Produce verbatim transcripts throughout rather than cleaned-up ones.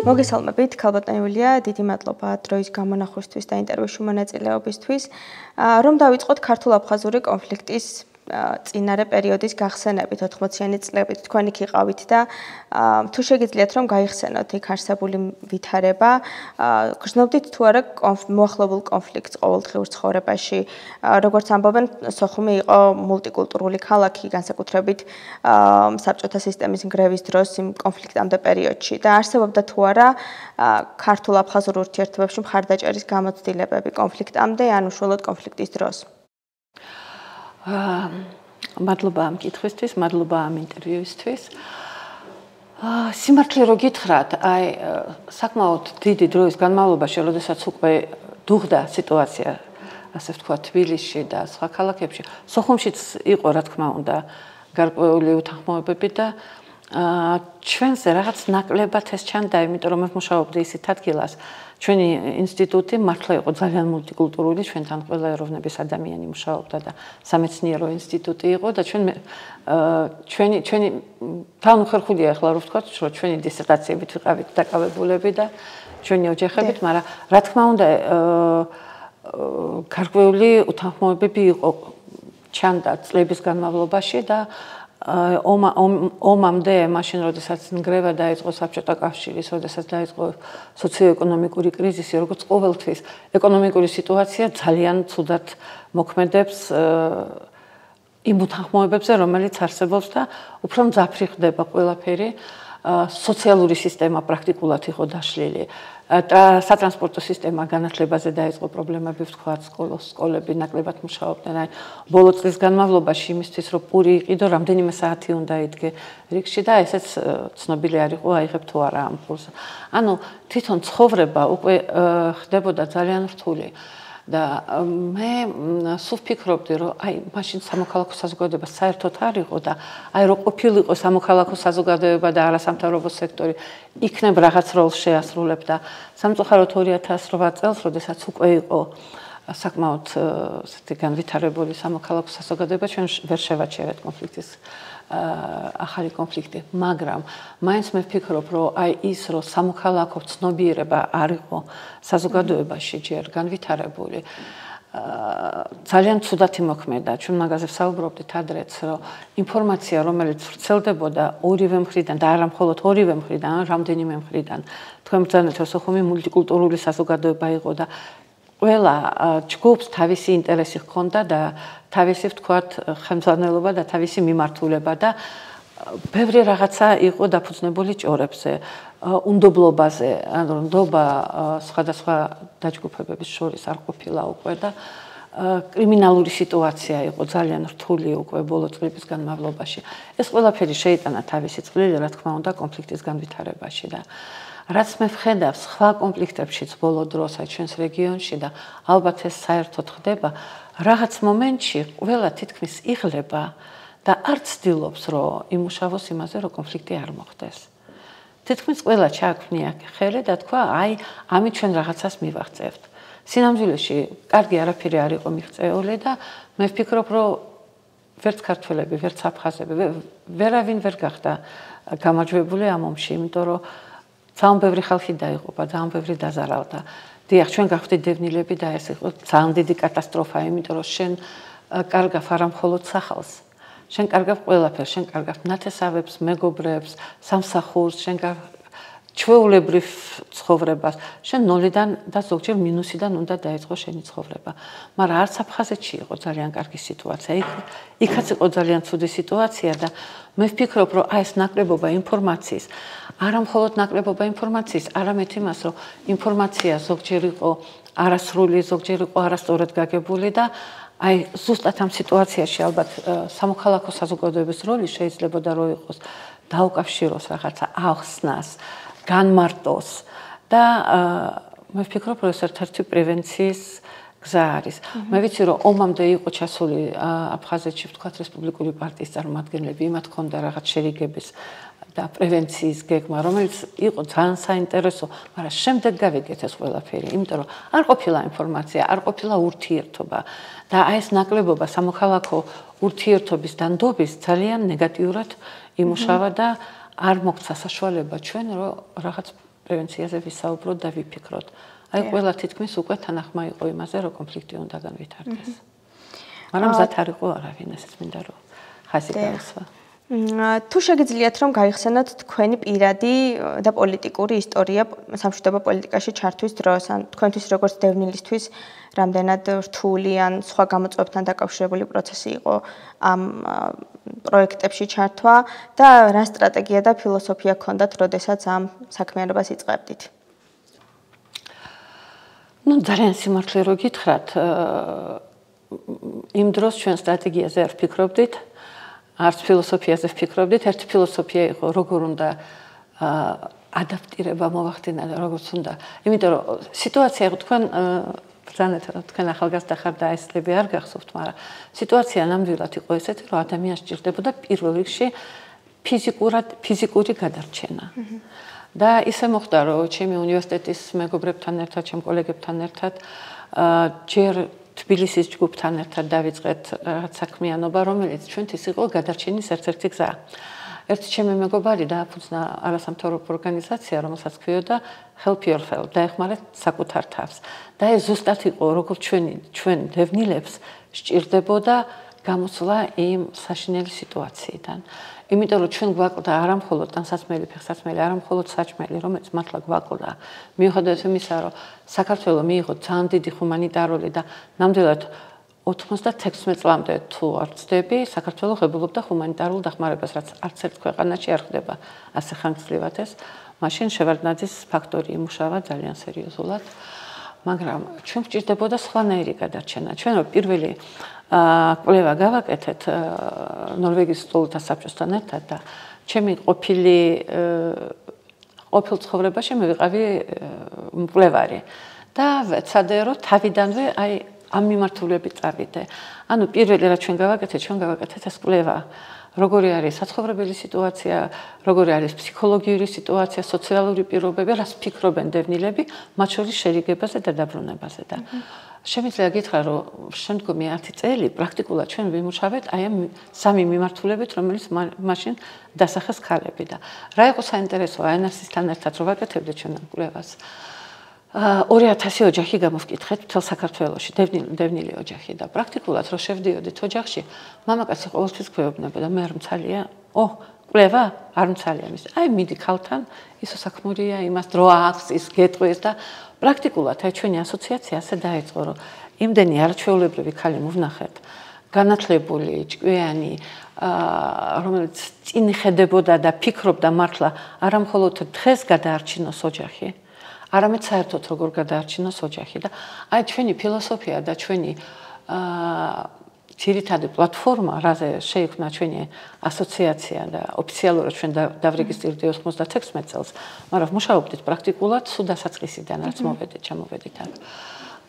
მოგესალმებით, ქალბატონი იულია, დიდი მადლობა დროის გამონახვისთვის და ინტერვიუში მონაწილეობისთვის. Რომ დავიწყოთ ქართულ-აფხაზური კონფლიქტის წინარე პერიოდის გახსენებით ოთხმოციანი წლებით თქვენ იქ იყავით და თუ შეგიძლიათ რომ გაიხსენოთ იქ არსებული ვითარება, გრძნობდით თუ არა მოახლებულ კონფლიქტს ყოველდღიურ ცხოვრებაში, როგორც ამბობენ, სოხუმი იყო მულტიკულტურული ქალაქი, განსაკუთრებით საბჭოთა სისტემის ნგრევის დროს იმ კონფლიქტამდე პერიოდში და არსებობდა თუ არა ქართულ-აფხაზურ ურთიერთობებში მხარდაჭერის გამოცდილებები კონფლიქტამდე ან უშუალოდ კონფლიქტის დროს. მადლობა ამ კითხვისთვის, მადლობა ამ ინტერვიუისთვის. სიმართლე რო გითხრათ, აი საკმაოდ დიდი დროის განმავლობაში, როდესაც უკვე დუღდა სიტუაცია, ასე ვთქვათ, თბილისში და სხვა ქალაქებში, სოხუმშიც იყო, რა თქმა უნდა, გარკვეული უთანხმოებები და ჩვენზე რაღაც ნაკლებად ეს ჩანდა, იმიტომ რომ მე ვმუშაობდი ისეთ ადგილას, ჩვენი ინსტიტუტი მართლა იყო ძალიან მულტიკულტურული, ჩვენთან ყველა ეროვნების ადამიანი მუშაობდა და სამეცნიერო ინსტიტუტი იყო და ჩვენ ჩვენი ჩვენი თანხმხერხულია ახლა რო ვთქვათ, რომ ჩვენი დისერტაციებით ვიყავით დაკავებულები და ჩვენი ოჯახებით, მაგრამ რა თქმა უნდა გარკვეული უთანხმოებები იყო ჩანდა წლების განმავლობაში და ომა ომამდე მაშინ როდესაც ნგრევა დაიწყო საბჭოთა კავშირის, როდესაც დაიწყო სოციო-ეკონომიკური კრიზისი, როგორც ყოველთვის ეკონომიკური სიტუაცია ძალიან ცუდად მოქმედებს იმ უთანხმოებებზე, რომელიც არსებობს და უფრო მძაფრი ხდება ყველაფერი. სოციალური სისტემა პრაქტიკულად იყო დაშლილი. სატრანსპორტო სისტემა განათლებაზე დაიწყო პრობლემები, ვთქვათ, სკოლები ნაკლებად მუშაობდნენ. აი, ბოლო წლის განმავლობაში იმისთვის, რომ პური იყიდო, რამდენიმე საათი უნდა იდგე რიგში და ესეც ცნობილი არ იყო, აიღებ თუ არა ამ პულს. ანუ თვითონ ცხოვრება უკვე ხდებოდა ძალიან რთული. და მე სულ ვფიქრობდი, რომ აი მაშინ სამოქალაქო საზოგადოება საერთოდ არ იყო და აი რო ყოფილიყო სამოქალაქო საზოგადოება და არასამთავრობო სექტორი იქნებ რაღაც როლს შეასრულებდა. სამწუხაროდ ორი ათას რვა წელს, როდესაც უკვე იყო საკმაოდ ესეთი განვითარებული სამოქალაქო საზოგადოება, ჩვენ ვერ შევაჩერეთ კონფლიქტის ახალი კონფლიქტი, მაგრამ მაინც მე ვფიქრობ, რომ აი ის რომ სამოქალაქო ცნობიერება არ იყო საზოგადოებაში ჯერ განვითარებული, ძალიან ცუდად იმოქმედა. ჩვენ მაგაზე ვსაუბრობდით ადრეც, რომ ინფორმაცია, რომელიც ვრცელდებოდა ორივე მხრიდან და არა მხოლოდ ორივე მხრიდან, რამდენიმე მხრიდან, თქვენ ბრძანეთ, რომ სოხუმი მულტიკულტურული საზოგადოება იყო და ყველა ჯგუფს თავისი ინტერესი ჰქონდა და თავისი, ვთქვათ, ხელმძღვანელობა და თავისი მიმართულება და ბევრი რაღაცა იყო დაფუძნებული ჭორებზე, უნდობლობაზე, ანუ ნდობა სხვადასხვა დაჯგუფებების შორის არ ყოფილა უკვე და კრიმინალური სიტუაცია იყო ძალიან რთული უკვე ბოლო წლების განმავლობაში. ეს ყველაფერი შეიტანა თავისი წვლილი, რა თქმა უნდა, კონფლიქტის განვითარებაში და რაც მე ვხედავ სხვა კონფლიქტებშიც ბოლო დროს აი ჩვენს რეგიონში და ალბათ ეს საერთოდ ხდება, რაღაც მომენტში ყველა თითქმის იღლება და არ ცდილობს, რომ იმუშავოს იმაზე, რომ კონფლიქტი არ მოხდეს. თითქმის ყველა ჩააქვნია ხელი და თქვა, აი, ამით ჩვენ რაღაცას მივაღწევთ. სინამდვილეში კარგი არაფერი არ იყო მიღწეული და მე ვფიქრობ, რომ ვერც ქართველები, ვერც აფხაზები, ვერავინ ვერ გახდა გამარჯვებული ამ ომში, იმიტომ რომ ძალიან ბევრი ხალხი დაიღუპა, ძალიან ბევრი დაზარავდა. დიახ, ჩვენ გავხდით დევნილები და ეს იყო ძალიან დიდი კატასტროფა, იმიტომ რომ შენ კარგავ არა მხოლოდ სახალს, შენ კარგავ ყველაფერს, შენ კარგავ ნათესავებს, მეგობრებს, სამსახურს, შენ კარგავ ჩვეულებრივ ცხოვრებას, შენ ნოლიდან და ზოგჯერ მინუსიდან უნდა დაიწყო შენი ცხოვრება. მაგრამ არც აფხაზეთში იყო ძალიან კარგი სიტუაცია, იქაც იყო ძალიან ცუდი სიტუაცია და მე ვფიქრობ, რომ აი ეს ნაკლებობა ინფორმაციის, არა მხოლოდ ნაკლებობა ინფორმაციის, არამედ იმას, რომ ინფორმაცია ზოგჯერ იყო არასრული, ზოგჯერ იყო არასწორად გაგებული და აი ზუსტად ამ სიტუაციაში ალბათ სამოქალაქო საზოგადოების როლი შეიძლებოდა რომ იყოს დაუკავშიროს რაღაცა ახსნას, განმარტოს და მე ვფიქრობ, რომ ეს ერთ-ერთი პრევენციის გზა არის. მე ვიცი, რომ ომამდე იყო ჩასული აფხაზეთში, ვთქვათ, რესპუბლიკური პარტიის წარმომადგენლები, იმათ ჰქონდა რაღაც შერიგების და პრევენციის გეგმა, რომელიც იყო ძალიან საინტერესო, მაგრამ შემდეგ გავიგეთ ეს ყველაფერი, იმიტომ რომ არ ყოფილა ინფორმაცია, არ ყოფილა ურთიერთობა და აი ეს ნაკლებობა სამოქალაქო ურთიერთობის დანდობის ძალიან ნეგატიურად იმუშავა და არ მოგვცა საშუალება ჩვენ რომ რაღაც პრევენციაზე ვისაუბროთ და ვიფიქროთ. აი ყველა თითქმის უკვე თანახმა იყო იმაზე, რომ კონფლიქტი უნდა განვითარდეს. მაგრამ მზად არ იყო არავინ, ესეც მინდა რომ ხაზი გაუსვა. თუ შეგიძლიათ რომ გაიხსენოთ თქვენი პირადი და პოლიტიკური ისტორია სამშვიდობო პოლიტიკაში ჩართვის დროს, ან თქვენთვის როგორც დევნილისთვის რამდენად რთული ან სხვა გამოწვევებთან დაკავშირებული პროცესი იყო ამ პროექტებში ჩართვა და რა სტრატეგია და ფილოსოფია გქონდათ, როდესაც ამ საქმიანობას იწყებდით? ну ძალიან სიმართლე რო გითხრათ, იმ დროს ჩვენ სტრატეგიაზე არ ვფიქრობდით, არც ფილოსოფიაზე ვფიქრობდით. ერთი ფილოსოფია იყო, როგორ უნდა ადაპტირება მოვახდინა და როგორც უნდა. იმიტომ რომ სიტუაცია იყო თქვენ ბრძანეთ, თქვენ ახალგაზრდა ხართ და ესლები არ გახსოვთ, მაგრამ სიტუაცია ნამდვილად იყო ესეთი, რომ ადამიანს სჭირდებოდა პირველ რიგში ფიზიკურად ფიზიკური გადარჩენა. და ისე მოხდა, რომ ჩემი უნივერსიტეტის მეგობრებთან ერთად, ჩემ კოლეგებთან ერთად ჯერ თბილისის ჯგუფთან ერთად დავიწყეთ რაღაც საქმიანობა, რომელიც ჩვენთვის იყო გადარჩენის ერთ-ერთი გზა. ერთი ჩემი მეგობარი დააფუძნა არასამთავრობო ორგანიზაცია, რომელსაც ქვიოდა Help Yourself, დაეხმარეთ საკუთარ თავს. და ეს ზუსტად იყო, როგორც ჩვენი ჩვენ დევნილებს სჭირდებოდა გამოსვლა იმ საშინელი სიტუაციიდან. იმიტომ რომ ჩვენ გვაკლდა არა მხოლოდ ტანსაცმელი, ფეხსაცმელი, არა მხოლოდ საჭმელი, რომელიც მართლა გვაკლდა. მიუხედავად იმისა, რომ საქართველო მიიღო ძალიან დიდი ჰუმანიტარული და ნამდვილად ოცდაექვსი წლამდე თუ არ ვცდები, საქართველო ღებულობდა ჰუმანიტარულ დახმარებას, რაც არც ერთ ქვეყანაში არ ხდება ასე ხანგრძლივად ეს. მაშინ შევარდნაძის ფაქტორი იმუშავა ძალიან სერიოზულად, მაგრამ ჩვენ გვჭირდებოდა სხვანაირი გადარჩენა. ჩვენ რო პირველი კვლევა გავაკეთეთ ნორვეგიის სტუმართა საბჭოსთან ერთად და ჩემი ყოფილი ყოფილ ცხოვრებაში მე ვიყავი მკვლევარი და ვეცადე რომ თავიდანვე აი ამ მიმართულებით წავიდე. ანუ პირველი რაც ჩვენ გავაკეთეთ, ჩვენ გავაკეთეთ ეს კვლევა. როგორი არის საცხოვრებელი სიტუაცია, როგორი არის ფსიქოლოგიური სიტუაცია, სოციალური პირობები, რას ფიქრობენ დევნილები, მათ შორის შერიგებაზე და დაბრუნებაზე და შემიძლია გითხრა, რომ შემდგომი ათი წელი პრაქტიკულად ჩვენ ვიმუშავეთ აი ამ სამი მიმართულებით, რომელიც მაშინ დასახეს ქალები და რა იყო საინტერესო აი ანასისთან ერთად რო ვაკეთებდით ჩვენ ამ კვლევას. ორი ათასი ოჯახი გამოვკითხეთ მთელ საქართველოში, დევნილი დევნილი ოჯახი და პრაქტიკულად რო შევდიოდით ოჯახში, მამაკაცი ყოველთვის გვეუბნებოდა, მე არ მცალია, ო, კვლევა არ მცალია მის. აი მიდი ქალთან, ისო საქმურია, იმას დრო აქვს, ის გეტყვის და პრაქტიკულად აი ჩვენი ასოციაცია ასე დაიწყო, რომ იმდენი არაჩვეულებრივი ქალი მოვნახეთ, განათლებული, ჭკვიანი, რომელიც წინ ხედებოდა და ფიქრობდა მართლა არა მხოლოდ დღეს გადაარჩინოს ოჯახი, არამედ საერთოდ როგორ გადაარჩინოს ოჯახი და აი ჩვენი ფილოსოფია და ჩვენი ძირითადი პლატფორმა, რაზე შეიქმნა ჩვენი ასოციაცია და ოფიციალურად ჩვენ დავრეგისტრირდით ოცდაექვსი წელს, მაგრამ მუშაობდით პრაქტიკულად სულ დასაწყისიდან, რაც მოვედით, ჩამოვედით აქ.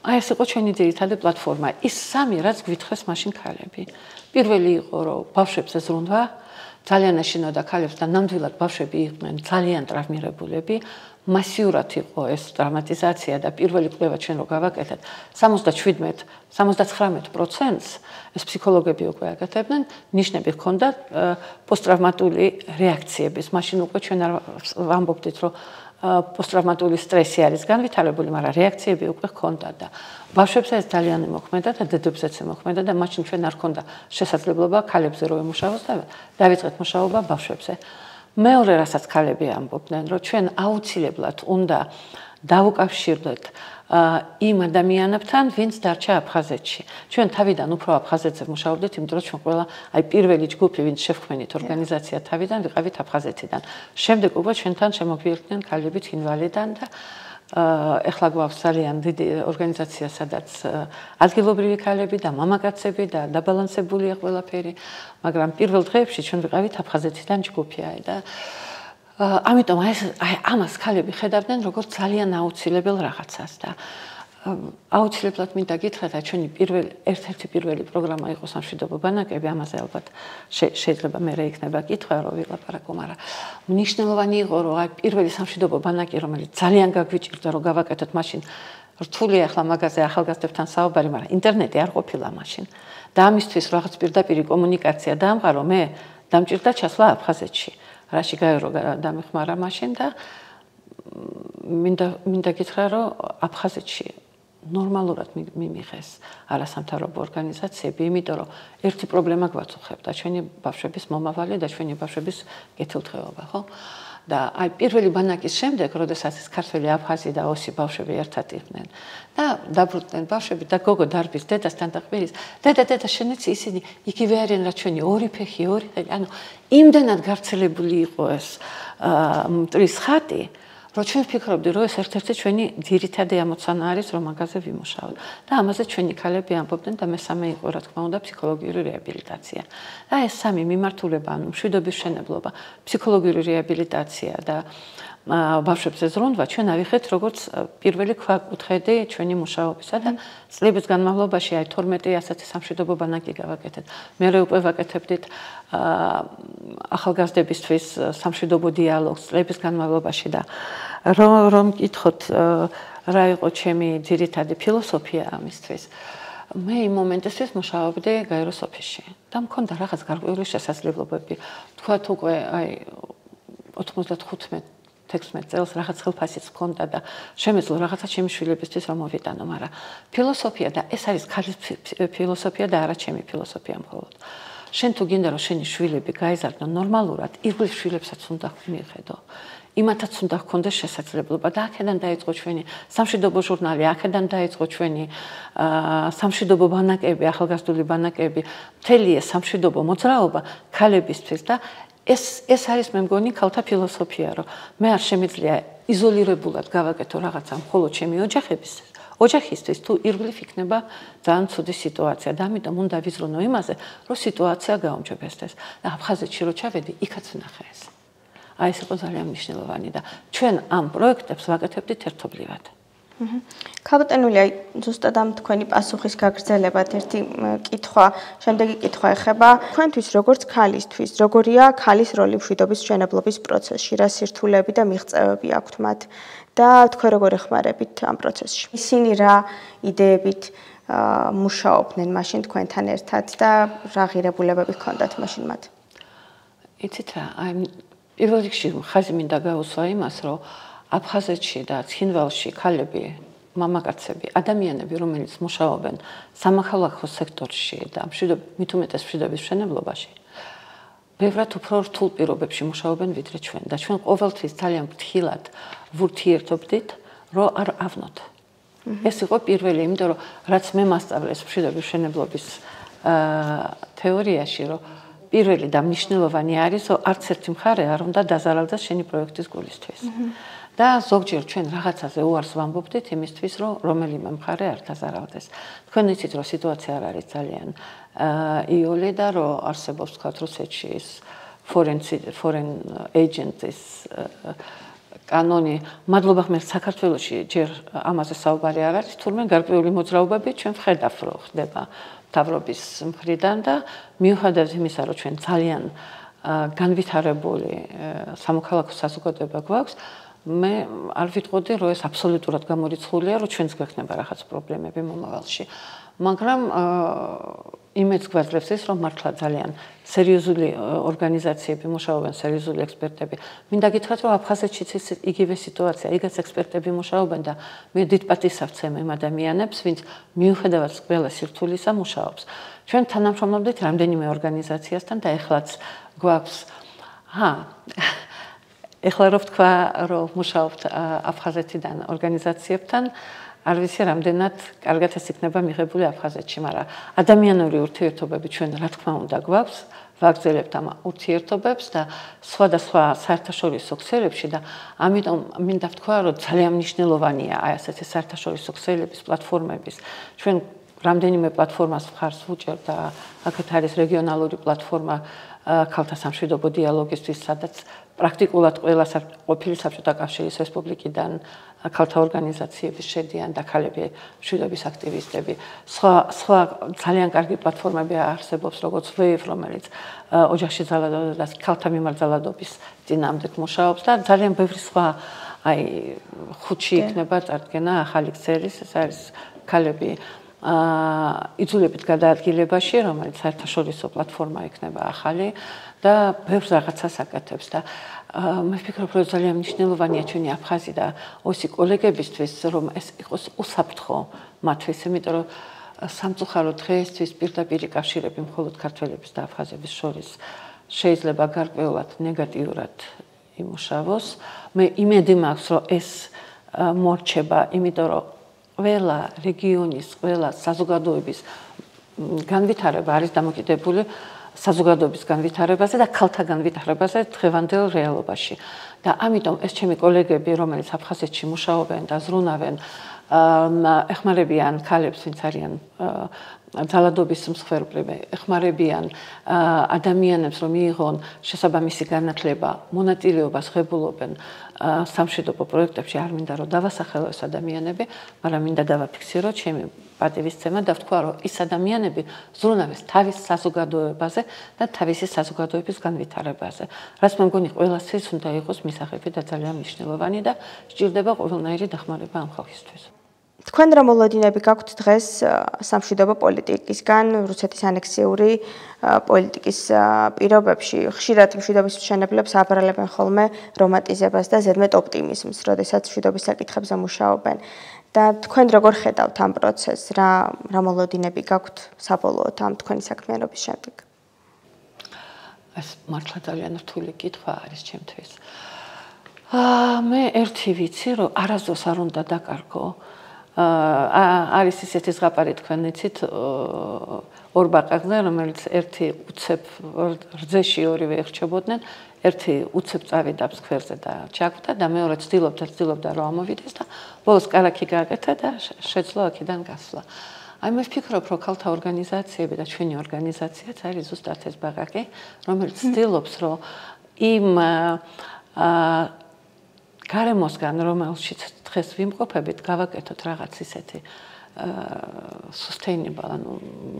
აი ეს იყო ჩვენი ძირითადი პლატფორმა. ის სამი რაც გვითხრეს მაშინ ქალები. პირველი იყო, რომ ბავშვებზე ზრუნვა, ძალიან ეშინოდა ქალებს და ნამდვილად ბავშვები იყვნენ ძალიან ტრავმირებულები. მასიურად იყო ეს ტრამატიზაცია და პირველი კვლევა ჩვენ რო გავაკეთეთ, სამოცდაშვიდმეტ სამოცდაცხრამეტ პროცენტს ეს ფსიქოლოგები უკვე აკეთებდნენ, ნიშნები ჰქონდა პოსტტრავმატული რეაქციების. მაშინ უკვე ჩვენ არ ვამბობდით, რომ პოსტტრავმატული სტრესი არის განვითარებული, მაგრამ რეაქციები უკვე ჰქონდა და ბავშვებზე ეს ძალიან მოქმედა და დედებზეც მოქმედა და მაშინ ჩვენ არ ჰქონდა შესაძლებლობა ქალებზე რო ემუშაოს და დავიწყეთ მუშაობა ბავშვებზე. მეორე რასაც ქალები ამბობდნენ, რომ ჩვენ აუცილებლად უნდა დავუკავშირდეთ იმ ადამიანებთან, ვინც დარჩა აფხაზეთში. ჩვენ თავიდან უფრო აფხაზეთზე მუშაობდით, იმიტომ რომ ჩვენ ყველა აი პირველი ჯგუფი, ვინც შევქმნით ორგანიზაცია თავიდან, ვიყავით აფხაზეთიდან. შემდეგ უკვე ჩვენთან შემოგვიერთდნენ ქალები თინვალიდან და ეხლა გვაქვს ძალიან დიდი ორგანიზაცია, სადაც ადგილობრივი ქალები და მამაკაცები და დაბალანსებულია ყველაფერი, მაგრამ პირველ დღეებში ჩვენ ვიყავით აფხაზეთიდან ჯგუფი და ამიტომ აი ამას ქალები ხედავდნენ როგორც ძალიან აუცილებელ რაღაცას და აუცილებლად მინდა გითხრათ, რა ჩვენი პირველი ერთ-ერთი პირველი პროგრამა იყო სამშვიდობო ბანაკები, ამაზე ალბათ შეიძლება მე რა იქნება კითხვა, რომ ვილაპარაკო, მაგრამ მნიშვნელოვანი იყო, რომ აი პირველი სამშვიდობო ბანაკი, რომელიც ძალიან გაგვიჭირდა, რომ გავაკეთოთ მაშინ რთული ახლა მაგაზე ახალგაზრდებთან საუბარი, მაგრამ ინტერნეტი არ ყოფილა მაშინ. და ამისთვის რაღაც პირდაპირი კომუნიკაცია დაამყარო, მე დამჭირდა ჩასვლა აფხაზეთში. რაში გაერო დამეხმარა მაშინ და მინდა მინდა გითხრა, რომ აფხაზეთში ნორმალურად მიმიღეს არასამთავრობო ორგანიზაციები, იმიტომ რომ ერთი პრობლემა გვაწუხებდა, ჩვენი ბავშვების მომავალი და ჩვენი ბავშვების კეთილდღეობა, ხო? და აი პირველი ბანაკის შემდეგ, როდესაც ეს ქართველი აფხაზი და ოსი ბავშვები ერთად იყვნენ და დაბრუნდნენ ბავშვები და გოგო დარბის დედასთან და ხმირის, დედა დედა შენიც ისინი იგივე არიან რა ჩვენი ორი ფეხი, ორი ხელი, ანუ იმდანად გავრცელებული იყო ეს მტრის ხატი, რომ ჩვენ ვფიქრობდი, რომ ეს ერთ-ერთი ჩვენი ძირითადი ამოცანა არის, რომ მაგაზე ვიმუშაოთ. და ამაზე ჩვენი ქალები ამბობდნენ და მესამე იყო, რა თქმა უნდა, ფსიქოლოგიური რეაბილიტაცია. და ეს სამი მიმართულება, ანუ მშვიდობის მშენებლობა, ფსიქოლოგიური რეაბილიტაცია და ბავშვებზე ზრუნვა, ჩვენ ავიხეთ როგორც პირველი ქვაკუთხედი ჩვენი მუშაობისა და წლების განმავლობაში აი თორმეტი ასეთი სამშვიდობო ბანაკი გავაკეთეთ. მერე უკვე ვაკეთებდით ახალგაზრდებისთვის სამშვიდობო დიალოგს წლების განმავლობაში და რომ რომ გითხოთ რა იყო ჩემი ძირითადი ფილოსოფია ამისთვის. მე იმ მომენტისთვის მუშაობდი გაეროს ოფისში და მქონდა რაღაც გარკვეული შესაძლებლობები. თქვათ უკვე აი ოცდახუთმეტ თექვსმეტ წელს რაღაც ხელფასიც მქონდა და შემეძლო რაღაცა ჩემი შვილებისთვის რომ მოვიტანო, მაგრამ ფილოსოფია და ეს არის ქალის ფილოსოფია და არა ჩემი ფილოსოფია მხოლოდ. შენ თუ გინდა რომ შენი შვილები გაიზარდონ ნორმალურად, ირგვლივ შვილებსაც უნდა მიხედო. იმათაც უნდა ჰქონდეს შესაძლებლობა და აქედან დაიწყო ჩვენი სამშვიდობო ჟურნალი, აქედან დაიწყო ჩვენი სამშვიდობო ბანაკები, ახალგაზრდული ბანაკები, მთელი ეს სამშვიდობო მოძრაობა ქალებისთვის და ეს ეს არის მე მგონი ქალთა ფილოსოფია, რომ მე არ შემიძლია იზოლირებულად გავაკეთო რაღაცა მხოლოდ ჩემი ოჯახების ოჯახისთვის, თუ ირგვლივ იქნება ძალიან ცუდი სიტუაცია და ამიტომ უნდა ვიზრუნო იმაზე, რომ სიტუაცია გაუმჯობესდეს. და აფხაზეთში რო ჩავედი, იქაც ვნახე ეს. აი ეს იყო ძალიან მნიშვნელოვანი და ჩვენ ამ პროექტებს ვაკეთებდით ერთობლივად. ქალბატონული, აი ზუსტად ამ თქვენი პასუხის გაგრძელებად ერთი კითხვა, შემდეგი კითხვა ეხება თქვენთვის როგორც ქალისთვის, როგორია ქალის როლი მშვიდობის მშენებლობის პროცესში, რა სირთულეები და მიღწევები აქვთ მათ და თქვენ როგორ ეხმარებით ამ პროცესში. ისინი რა იდეებით მუშაობდნენ მაშინ თქვენთან ერთად და რა ღირებულებები ჰქონდათ მაშინ მათ? იცით რა, აი პირველ რიგში ხაზი მინდა გაუსვა იმას, რომ აფხაზეთში და ცხინვალში ქალები, მამაკაცები, ადამიანები, რომელიც მუშაობენ სამოქალაქო სექტორში და მით უმეტეს მშვიდობის მშენებლობაში, ბევრად უფრო რთულ პირობებში მუშაობენ ვიდრე ჩვენ და ჩვენ ყოველთვის ძალიან ფრთხილად ვურთიერთობდით, რომ არ ავნოთ. ეს იყო პირველი, იმიტომ რომ რაც მე მასწავლეს მშვიდობის მშენებლობის თეორიაში, რომ პირველი და მნიშვნელოვანი არის, რომ არც ერთი მხარე არ უნდა დაზარალდეს შენი პროექტის გულისთვის. და ზოგჯერ ჩვენ რაღაცაზე უარს ვამბობდით იმისთვის, რომ რომელიმე მხარე არ დაზარალდეს. თქვენ იცით, რომ სიტუაცია არ არის ძალიან იოლი და რომ არსებობს თქვა რუსეთში ის foreign agents კანონი. მადლობა ღმერთს, საქართველოში ჯერ ამაზე საუბარი არ არის, თურმე გარკვეული მოძრაობები ჩვენ ვხედავთ, რომ ხდება მთავრობის მხრიდან და მიუხედავად იმისა, რომ ჩვენ ძალიან განვითარებული სამოქალაქო საზოგადოება გვაქვს, მე არ ვიტყოდი, რომ ეს აბსოლუტურად გამორიცხულია, რომ ჩვენს გვექნება რაღაც პრობლემები მომავალში. მაგრამ იმედს გვაძლევს ის, რომ მართლა ძალიან სერიოზული ორგანიზაციები მუშაობენ, სერიოზული ექსპერტები. მინდა გითხრათ, რომ აფხაზეთშიც ის იგივე სიტუაცია, იგივე ექსპერტები მუშაობენ და მე დიდ პატივს ვცემ იმ ადამიანებს, ვინც მიუხედავად ყველა სირთულისა მუშაობს. ჩვენ თანამშრომლობდით რამდენიმე ორგანიზაციასთან და ეხლაც გვაქვს ჰა ეხლა რო ვთქვა, რომ მუშაობთ აფხაზეთიდან ორგანიზაციებთან, არ ვიცი რამდენად კარგად ეს იქნება მიღებული აფხაზეთში, მაგრამ ადამიანური ურთიერთობები ჩვენ რა თქმა უნდა გვაქვს, ვაგრძელებთ ამ ურთიერთობებს და სხვადასხვა საერთაშორისო ქსელებში და ამიტომ მინდა ვთქვა, რომ ძალიან მნიშვნელოვანია აი ასეთი საერთაშორისო ქსელების პლატფორმების. ჩვენ რამდენიმე პლატფორმას მხარს ვუჭერთ და აქეთ არის რეგიონალური პლატფორმა ქალთა სამშვიდობო დიალოგისთვის, სადაც პრაქტიკულად ყველა ყოფილი საბჭოთა კავშირის რესპუბლიკიდან ქალთა ორგანიზაციების შედიან და ქალები მშვიდობის აქტივისტები. სხვა სხვა ძალიან კარგი პლატფორმები არსებობს, როგორც ვეივ, რომელიც ოჯახში ძალადობას ქალთა მიმართ ძალადობის წინააღმდეგ მუშაობს და ძალიან ბევრი სხვა აი ხუთში იქნება წარდგენა ახალი ქსელის, ეს არის ქალები იძულებით გადაადგილებაში, რომელიც საერთაშორისო პლატფორმა იქნება ახალი და ბევრ რაღაცას აკეთებს და მე ვფიქრობ, რომ ძალიან მნიშვნელოვანია ჩვენი აფხაზი და ოსი კოლეგებისთვის, რომ ეს იყოს უსაფრთხო მათთვის, იმიტომ რომ სამწუხარო დღეისთვის პირდაპირი კავშირები მხოლოდ ქართველების და აფხაზების შორის შეიძლება გარკვეულად ნეგატიურად იმუშავოს. მე იმედი მაქვს, რომ ეს მორჩება, იმიტომ რომ ყველა რეგიონის, ყველა საზოგადოების განვითარება არის დამოკიდებული საზოგადოების განვითარებაზე და ქალთა განვითარებაზე დღევანდელ რეალობაში. და ამიტომ ეს ჩემი კოლეგები, რომელიც აფხაზეთში მუშაობენ და ზრუნავენ, ეხმარებიან ქალებს, ვინც არიან ძალადობის მსხვერპლები, ეხმარებიან ადამიანებს, რომ მიიღონ შესაბამისი განათლება, მონაწილეობას ღებულობენ სამშვიდობო პროექტებში. არ მინდა რომ დავასახელო ეს ადამიანები, მაგრამ მინდა დავაფიქსირო ჩემი პატივისცემა და ვთქვა, რომ ის ადამიანები ზრუნავეს თავის საზოგადოებაზე და თავისი საზოგადოების განვითარებაზე. რაც მე მგონი ყველასთვის უნდა იყოს მისაღები და ძალიან მნიშვნელოვანი და სჭირდება ყველანაირი დახმარება ამ ხალხისთვის. თქვენ რა მოლოდინები გაქვთ დღეს სამშვიდობო პოლიტიკისგან, რუსეთის ანექსიური პოლიტიკის პირობებში? ხშირად მშვიდობის მშენებლებს აბრალებენ ხოლმე რომანტიზებას და ზედმეტ ოპტიმიზმს, როდესაც მშვიდობის საკითხებზე მუშაობენ. და თქვენ როგორ ხედავთ ამ პროცესს? რა რა მოლოდინები გაქვთ საბოლოოდ ამ თქვენი საქმიანობის შემდეგ? ეს მართლა ძალიან რთული კითხვა არის ჩემთვის. აა მე ერთი ვიცი, რომ არასდროს არ უნდა დაკარგო. აა არის ისეთი ზღაპარი თქვენ იცით ორ ბაყაყზე, რომელიც ერთი უცებ რძეში ორივე ეხჩებოდნენ, ერთი უცებ წავიდა ფსქვერზე და ჩაგვდა და მეორე ცდილობდა ცდილობდა რომ ამოვიდეს და ბოლოს კარაქი გააკეთა და შეძლო აქედან გასვლა. აი მე ვფიქრობ, რომ ქალთა ორგანიზაციები და ჩვენი ორგანიზაციაც არის ზუსტად ეს ბაყაყი, რომელიც ცდილობს, რომ იმ აა გარემოსგან, რომელშიც დღეს ვიმყოფებით, გავაკეთოთ რაღაც ისეთი sustainable, ანუ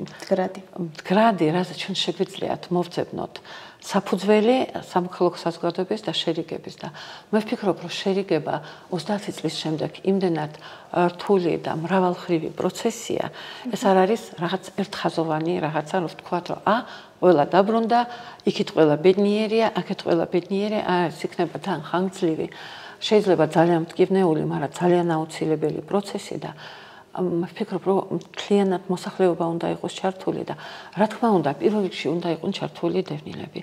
მდგრადი. მდგრადი, რასაც ჩვენ შეგვიძლიათ მოვძებნოთ საფუძველი სამოქალაქო საზოგადოების და შერიგების და მე ვფიქრობ, რომ შერიგება ოცდაათი წლის შემდეგ იმდენად რთული და მრავალხრივი პროცესია, ეს არ არის რაღაც ერთხაზოვანი რაღაცა, რომ ვთქვათ, რომ ა ყველა დაბრუნდა, იქით ყველა ბედნიერია, აქეთ ყველა ბედნიერია, ეს იქნება თან ხანგრძლივი, შეიძლება ძალიან მტკივნეული, მაგრამ ძალიან აუცილებელი პროცესი და მე ვფიქრობ, რომ მთლიანად მოსახლეობა უნდა იყოს ჩართული და რა თქმა უნდა, პირველ რიგში უნდა იყვნენ ჩართული დევნილები.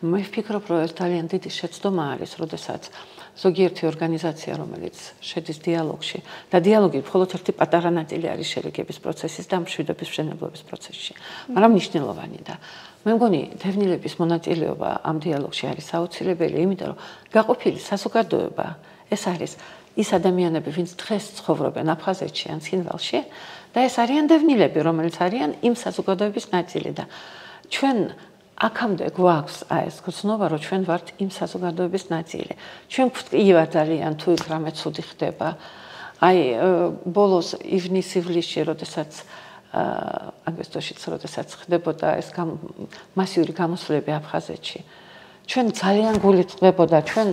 მე ვფიქრობ, რომ ეს ძალიან დიდი შეცდომა არის, როდესაც ზოგიერთი ორგანიზაცია, რომელიც შედის დიალოგში და დიალოგი მხოლოდ ერთი პატარა ნაწილი არის შერიგების პროცესის და მშვიდობის მშენებლობის პროცესში, მაგრამ მნიშვნელოვანი და მე მგონი დევნილების მონაწილეობა ამ დიალოგში არის აუცილებელი, იმიტომ რომ გაყოფილი საზოგადოება ეს არის ის ადამიანები, ვინც დღეს ცხოვრობენ აფხაზეთში ან ცხინვალში და ეს არიან დევნილები, რომელიც არიან იმ საზოგადოების ნაწილი და ჩვენ აქამდე გვაქვს აი ეს გრძნობა, რომ ჩვენ ვართ იმ საზოგადოების ნაწილი. ჩვენ გვტკივა ძალიან თუ იქ რამე ცუდი ხდება. აი ბოლოს ივნის-ივლისში, როდესაც აგვისტოშიც, როდესაც ხდებოდა ეს მასიური გამოსვლები აფხაზეთში. ჩვენ ძალიან გულით წვებოდა, ჩვენ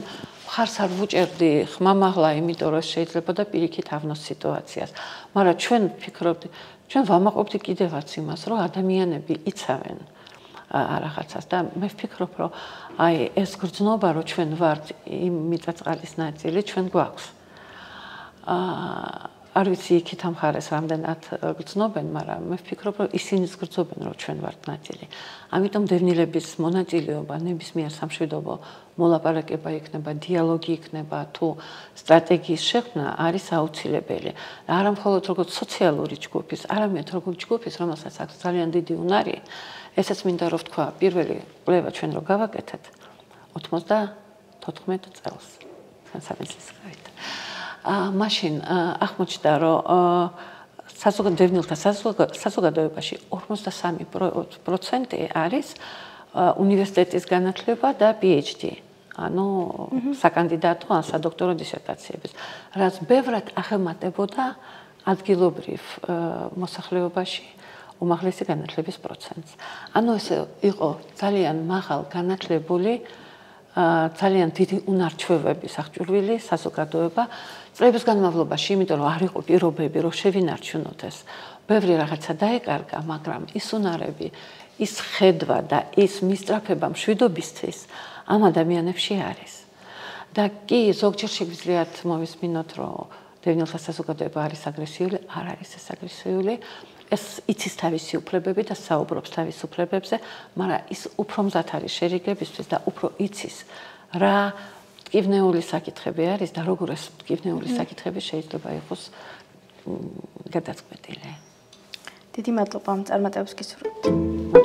ხარს არ ვუჭერდი ხმამაღლა, იმიტომ რომ შეიძლება და პირიქით ავნოს სიტუაციას. მაგრამ ჩვენ ვფიქრობდი, ჩვენ ვამაყობდი კიდევაც იმას, რომ ადამიანები იცავენ რაღაცას და მე ვფიქრობ, რომ აი ეს გრძნობა, რომ ჩვენ ვართ იმ მიწაწყალის ნაწილი, ჩვენ გვაქვს. აა არ ვიცი იქით ამ ხარეს რამდენად გრძნობენ, მაგრამ მე ვფიქრობ, რომ ისინიც გრძნობენ, რომ ჩვენ ვართ ნაწილი. ამიტომ დევნილების მონაწილეობა ნებისმიერ სამშვიდობო მოლაპარაკება იქნება, დიალოგი იქნება, თუ სტრატეგიის შექმნა არის აუცილებელი. არა მხოლოდ როგორც სოციალური ჯგუფის, არამედ როგორც ჯგუფის, რომელსაც აქვს ძალიან დიდი უნარი, ესაც მინდა რომ ვთქვა, პირველი კვლევა ჩვენ რო გავაკეთეთ ოცდათოთხმეტ წელს, სამეცნიერო აა მაშინ აღმოჩნდა, რომ საზოგადოებრივთა საზოგადოებაში ორმოცდასამი პროცენტი არის უნივერსიტეტის განათლება და PhD. ანუ საკანდიდატო ან სადოქტორო დისერტაციების, რაც ბევრად აღემატებოდა ადგილობრივ მოსახლეობაში უმაღლესი განათლების პროცენტს. ანუ ეს იყო ძალიან მაღალ განათლებული, ძალიან დიდი უნარჩვევების აღჭურვილი საზოგადოება წლების განმავლობაში, იმიტომ რომ არ იყო პირობები, რომ შევინარჩუნოთ ეს. ბევრი რაღაცა დაეკარგა, მაგრამ ის უნარები, ის ხედვა და ის მისწრაფება მშვიდობისთვის ამ ადამიანებში არის. და კი, ზოგჯერ შეგვიძლიათ მოვისმინოთ, რომ დევნილთა საზოგადოება არის აგრესიული, არ არის ეს აგრესიული. ეს იცის თავისი უფლებები და საუბრობს თავის უფლებებზე, მაგრამ ის უფრო მზად არის შერიგებისთვის და უფრო იცის რა მტკივნეული საკითხები არის და როგორ ეს მტკივნეული საკითხები შეიძლება იყოს გადაწყვეტილი. დიდი მადლობა ამ წარმატებებს გისურვებთ.